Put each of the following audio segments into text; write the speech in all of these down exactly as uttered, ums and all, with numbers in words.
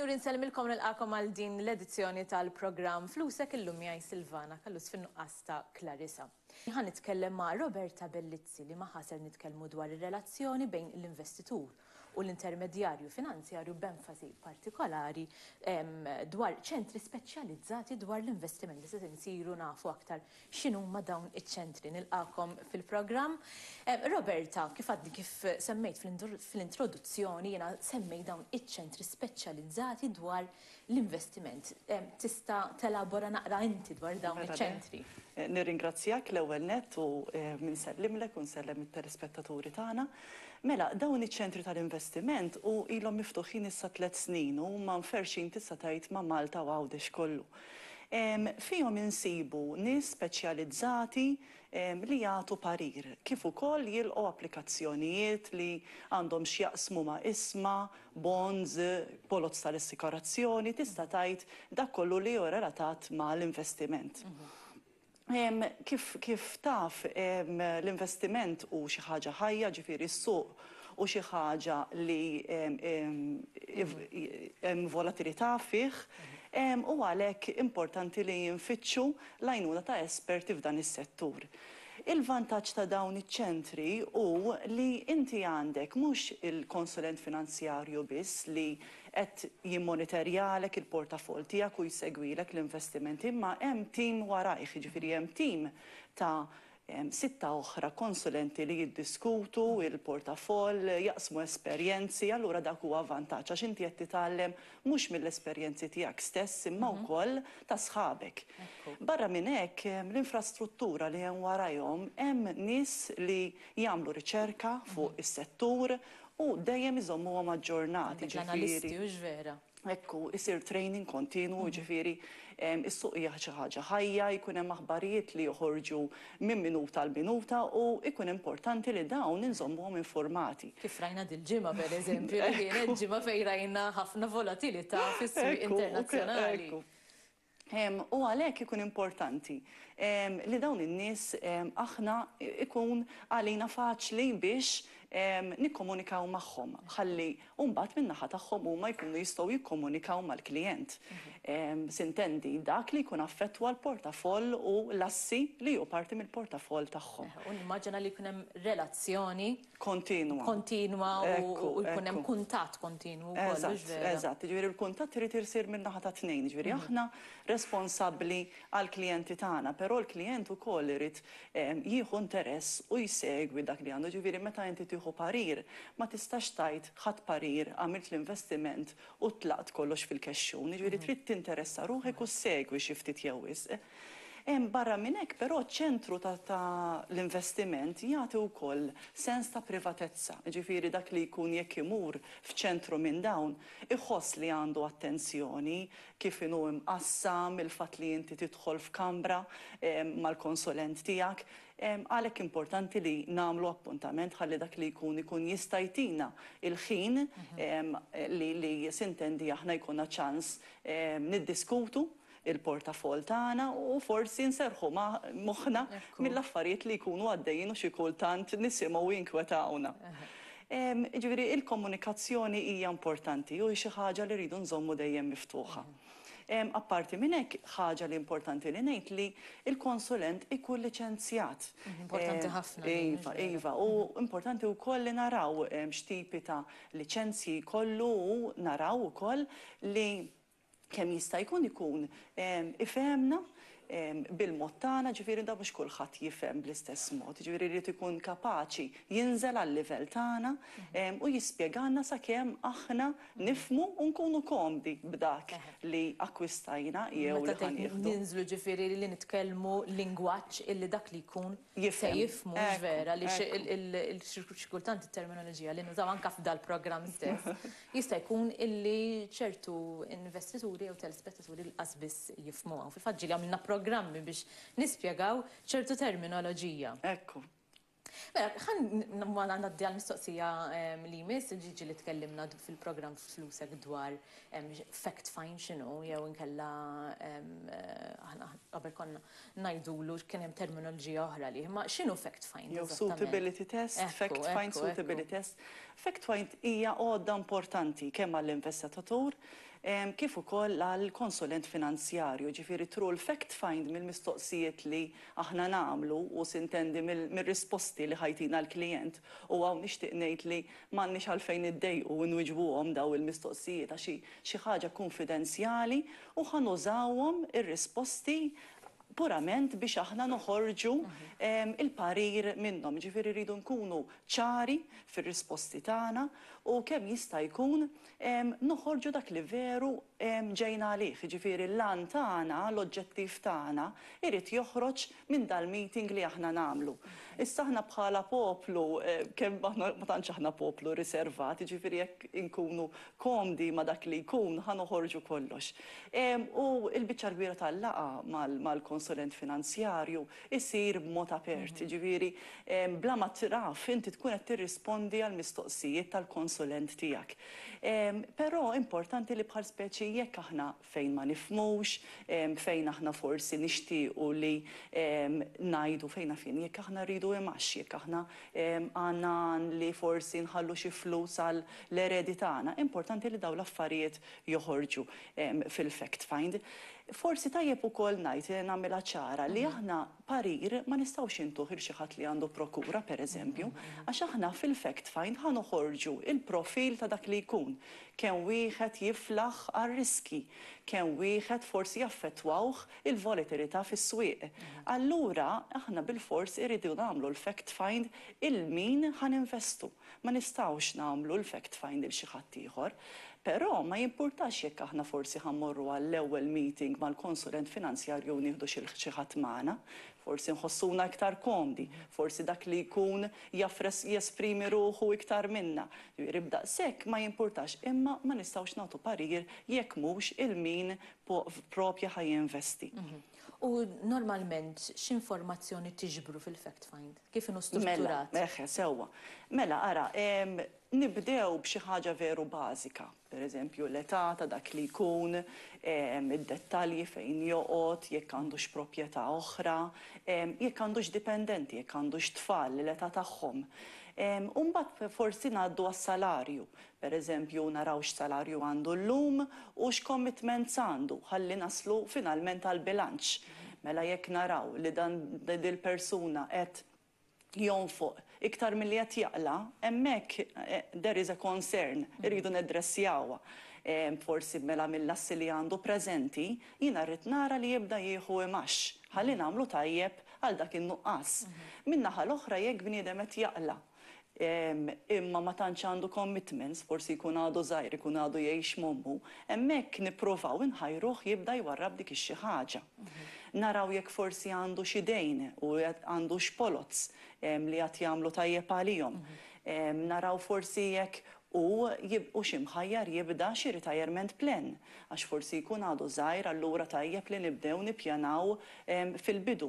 Sinjuri, nsellmilkom, nilqagħkom għal din l-edizzjoni tal-programm Flusek. Illum miegħi Silvana Callus fin-nuqqas ta' Clarissa. Ħa nitkellem ma' Roberta Bellizzi li magħha ser nitkellmu dwar ir-relazzjoni bejn l-investitur u l-intermedjarju finanzjarju, b'enfasi partikolari em, dwar ċentri speċjalizzati dwar l-investiment, li se nsiru nafu aktar x'inhuma dawn iċ-ċentri. Nilqagħkom fil-programm. Em, Roberta, kif għadni kif semmejt fil-introduzzjoni, jiena semmejt dawn iċ-ċentri speċjalizzati dwar l-investiment. Em, Tista' telabora naqra inti dwar dawn Mela, iċ-ċentri? Eh, Nirringrazzjak l-ewwel nett u eh, minsellimlek u nsellem it-telespettaturi tagħna. Mela, dawn iċ-ċentri tal-investiment u ilhom miftuħin issa tliet snin u huma mferxin, tista' tgħid, ma' Malta u Għawdex kollu. Em, Fihom insibu nies speċjalizzati em, li jagħtu parir, kif ukoll jilqgħu applikazzjonijiet li għandhom x'jaqsmu ma' ishma, bonds, poloz tal-assikurazzjoni, tista' tgħid dak kollu li hu relatat ma' l-investiment. Em, Kif, kif taf, em, l-investiment hu xi ħaġa ħajja, ġifieri s-suq u xi ħaġa li em, em, if- hemm volatilità fih, em, u għalhekk importanti li jinfittxu l-għajnuna ta' esperti f'dan is-settur. Il-vantaġġ ta' dawn iċ-ċentri hu li inti għandek mhux il-konsulent finanzjarju biss li qed jimmonitorjalek il-portafol tiegħek u jsegwilek l-investimenti, imma hemm tim warajh, jiġifieri hemm tim ta' em, sitta oħra konsulenti li jiddiskutu il-portafol, jaqsmu esperjenzi, allura dak huwa vantaġġ għax inti qed titgħallem mhux mill-esperjenzi tiegħek stess imma wkoll ta' sħabek. Barra minn hekk, em, l-infrastruttura li hemm warajhom, hemm nies li jagħmlu riċerka fuq is-settur u dejjem iżommuhom aġġornati. Għandek l-analisti, u vera. Ekku, isir training kontinu, ġifieri, is-suq hija xi ħaġa ħajja, jkun hemm aħbarijiet li joħorġu minn minuta għal minuta u jkun importanti li dawn inżommuhom informati. Kif rajna dil-ġimgħa, per eżempju, li kienet ġimgħa fejn rajna ħafna volatilità fis-suq Ekku, internazzjonali. ekku. Em, U għalhekk ikun importanti em, li dawn in-nies em, aħna ikun għalina faċli biex em, nikkomunikaw magħhom. Ħalli mbagħad min-naħa tagħhom huma jkunu jistgħu jikkomunikaw mal-klijent. Em, Sintendi dak li jkun affettwa l-portafoll u l-assi li hu parti mill-portafoll tagħhom. U nimmaġina li jkun hemm relazzjoni Kontinwa. kontinwa u Ekku, u jkun hemm ekku. kuntatt kontinwu wkoll, Eżatt, hux vera? eżatt. Ġifieri l-kuntatt irid isir minn naħa ta' tnejn. Ġifieri aħna responsabbli għall-klijenti tagħna, però l-klijent ukoll irid em, jieħu interess u jsegwi dak li għandu. Ġifieri meta inti tieħu parir, ma tistax tgħid ħadt parir, għamilt l-investiment u tlaqt kollox fil-kexxun. Ġifieri trid tinteressa ruħek u segwi xi ftit jew wisq. Hemm barra minn hekk, però, ċentru ta', ta l-investiment jagħti wkoll sens ta' privatezza. Ġifieri dak li jkun jekk imur f'ċentru minn dawn iħoss li għandu attenzjoni, kif inhu imqassam, il-fatt li inti tidħol f'kamra em, mal-konsulent tiegħek. Em, Għalhekk importanti li nagħmlu appuntament ħalli dak li jkun ikun jista' jtina il-ħin em, li, li sintendi aħna jkollna ċans em, niddiskutu il-portafol tagħna u forsi nserħu ma' moħħna Ekku. mill-affarijiet li jkunu għaddejjin u xi kultant nisimgħu jinkwetawna. Em, Ġifieri il-komunikazzjoni hija importanti u hi xi ħaġa li rridu nżommu dejjem miftuħa. Em, Apparti minn hekk, ħaġa li importanti li ngħid li il-konsulent ikun liċenzjat. Importanti Em, ħafna din, Iva, mhux vera? iva, u importanti wkoll li naraw em, x'tipi ta' liċenzji kollu u naraw ukoll li kemm jista' jkun ikun em, ifhemna em, bil-mod tagħna, ġifieri da mhux kulħadd jifhem bl-istess mod, ġifieri jrid ikun kapaċi jinżel għal-livell tagħna em, u jispjegalna sakemm aħna nifhmu u nkunu komdi b'dak li akkwistajna jew li Meta ħa tgħid nieħdu. ninżlu, ġifieri li nitkellmu lingwaġġ illi dak li jkun se Jifhem. jifhmu, mhux Ekku, vera, li xi- ekku. il- il- il- xi kultant it-terminoloġija li nużaw anka f'dal-programm stess jista' jkun illi ċertu investituri jew telespettaturi lanqas biss jifhmuha. Fil-fatt ġieli għamilna programmi biex nispjegaw ċertu terminoloġija. Ekku. Mela, ħa ma ngħaddi għal-mistoqsija em, li jmiss, ġiġi li tkellimna d- fil-programm Flusek dwar em, fact find x'inhu, jew inkella em, eh, aħna qabel konna ngħidulu kien hemm terminoloġija oħra li, ma x'inhu fact find Jew eżattament? suitability test, Ekku, fact find, ekku, suitability ekku. test. Fact find hija għodda importanti kemm għall-investitatur kif ukoll għal konsulent finanzjarju, ġifieri through l-fact find, mill-mistoqsijiet li aħna nagħmlu u s'intendi mill-risposti li ħa jtina l-klient, u hawn nixtieq ngħid li m'għandniex għalfejn iddejqu nwiġbuhom daw il-mistoqsijiet għax xi ħaġa konfidenzjali u ħa nużawhom ir-risposti purament biex aħna noħorġu il-parir minnhom. Ġifieri rridu nkunu ċari fir-risposti tagħna u kemm jista' jkun noħorġu dak li veru ġejna għalih. Ġifieri l-għan tagħna, l-oġġettiv tagħna irid joħroġ minn dal-meeting li aħna nagħmlu. Issa aħna bħala poplu, kemm aħna ma tantx aħna poplu riservat, ġifieri jekk inkunu komdi ma dak li jkun ħa noħorġu kollox. U l-biċċa kbira tal-laqgħa mal-konsulent finanzjarju isir b'mod apert, ġifieri bla ma taf inti tkun qed tirrispondi għal mistoqsijiet tal-konsulent tiegħek. Però importanti li bħal speċi jekk aħna fejn ma nifhmux, fejn aħna forsi nixtiequ li ngħidu fejn fin jekk aħna rridu imax, jekk aħna għandna li forsi nħallu xi flus għal l-eredi tagħna, importanti li daw l-affarijiet joħorġu fil-fact find. Forsi tajjeb ukoll ngħid, nagħmilha ċara li aħna parir ma nistgħux intuh lil xi ħadd li għandu prokura, pereżempju, għax aħna fil-fact find ħa noħorġu il-profil ta' dak li jkun. Kemm wieħed jiflaħ għar-riski, kemm wieħed forsi jaffettwawh il-volatilità fis-swieq. Allura aħna bil-fors irridu nagħmlu l-fact find lil min ħa ninvestu. Ma nistgħux nagħmlu l-fact find lil xi ħadd ieħor. Però ma jimpurtax jekk aħna forsi ħa mmorru għall-ewwel meeting mal-konsulent finanzjarju u nieħdu xi ħadd magħna, forsi nħossuna iktar komdi, forsi dak li jkun jaf jesprimi ruħu iktar minna. Ġifieri b'daqshekk ma jimpurtax, imma ma nistgħux nagħtu parir jekk mhux lil min propja ħa jinvesti. Mhm. U normalment x'informazzjoni tiġbru fil-fact find? Kif inhu strutturat? Mela, eħe, sewwa. Mela, ara, nibdew b'xi ħaġa veru bażika. Per eżempju, l-età ta' dak li jkun, id-dettalji fejn joqgħod, jekk għandux proprjetà oħra, jekk għandux dipendenti, jekk għandux tfal, l-età tagħhom. Umbagħad forsi ngħaddu għas-salarju. Per eżempju, naraw x'salarju għandu llum u x'commitments għandu, ħalli naslu finalment għal bilanċ. Mela jekk naraw li dan dil-persuna qed jonfoq iktar milli qed jaqla', hemmhekk eh, there is a concern, irridu naddressjawha. Forsi mela mill-assi li għandu preżenti, jiena rrid nara li jibda jieħu imax, ħalli nagħmlu tajjeb għal dak in-nuqqas. Min-naħa l-oħra, jekk bniedem qed jaqla', imma ma tantx għandu commitments, forsi jkun għadu żgħir, ikun għadu jgħix m'ommu, hemmhekk nippruvaw inħajruh jibda jwarrab dik ix-xi ħaġa. Naraw jekk forsi għandu xi dejn u għandu x'poloz li qed jagħmlu tajjeb għalihom. Naraw forsi jekk u u x'imħajjar jibda xi retirement plan, għax forsi jkun għadu żgħir, allura tajjeb li nibdew nippjanaw fil-bidu.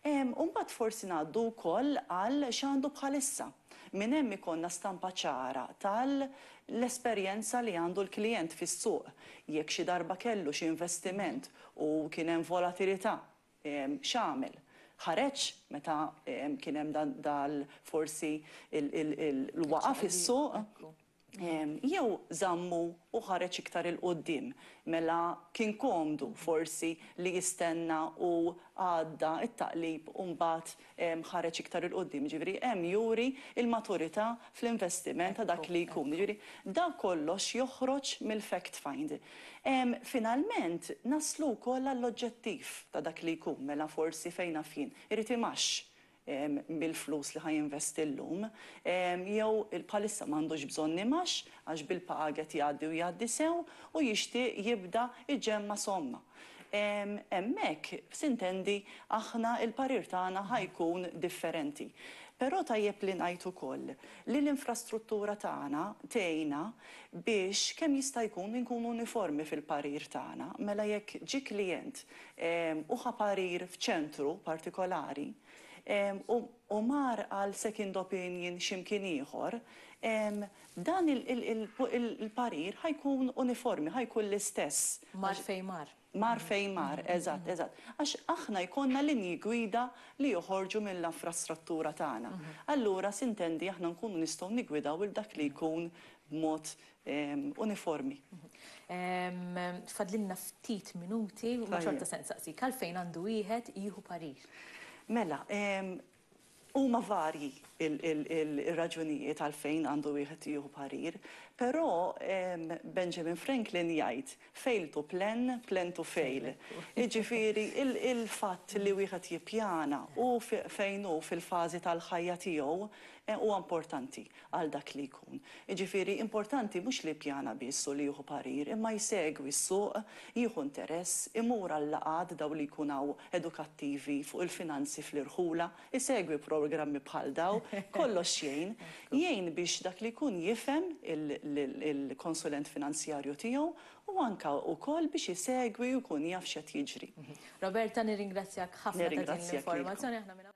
Umbagħad forsi ngħaddu wkoll għal x'għandu bħalissa. Minn hemm ikollna stampa ċara tal-esperjenza li għandu l-klient fis-suq. Jekk xi darba kellu xi investiment u kien hemm volatilità, x'għamel? Ħareġ meta kien hemm dal forsi il-waqa fis-suq, jew żammu u ħareġ iktar 'il quddiem? Mela kien komdu forsi li jistenna u għadda it-taqlib u mbagħad ħareġ iktar 'il quddiem. Ġifieri hemm juri il-maturità fl-investiment ta' dak li jkun. Ġifieri da kollox joħroġ mill-fact find. Finalment naslu wkoll għall-oġġettiv ta' dak li jkun, mela forsi fejn jien irid imax bil-flus li ħa jinvesti llum, jew bħalissa m'għandux bżonn imax għax bil-paga jgħaddi u jgħaddi sew u jixtieq jibda iġemma somma. Hemmhekk, s'intendi, aħna il-parir tagħna ħa jkun differenti. Però tajjeb li ngħid ukoll li l-infrastruttura tagħna tgħinna biex kemm jista' jkun inkunu uniformi fil-parir tagħna. Mela jekk ġi klient u ħa parir f'ċentru partikolari u mar għal second opinion x'imkien ieħor, dan il-parir ħa jkun uniformi, ħa jkun l-istess. Mar fejn mar. Mar fejn mar, eżatt, eżatt. Għax aħna jkollna linji gwida li joħorġu mill-infrastruttura tagħna. Allura s'intendi aħna nkunu nistgħu nigwidaw il dak li jkun b'mod uniformi. Fadlilna ftit minuti, u xorta se nsaqsik, għalfejn għandu wieħed jieħu parir? Mela, huma varji il-raġunijiet għalfejn għandu wieħed jieħu parir, però Benjamin Franklin jgħid "fail to plan, plan to fail". Jiġifieri il-fatt li wieħed jippjana u fejn hu fil-fażi tal-ħajja tiegħu huwa importanti għal dak li jkun. Jiġifieri importanti mhux li pjana biss u li jieħu parir, imma jsegwi s-suq, jieħu interess, imur għal laqgħat daw li jkun edukattivi fuq il-finanzi fl-irħula, isegwi programmi bħal daw, kollox jgħin, jgħin biex dak li jkun jifhem il-konsulent finanzjarju tiegħu u anka wkoll biex isegwi u jkun jaf x'qed jiġri. Roberta, nirringrazzjak ħafna ta' din l-informazzjoni.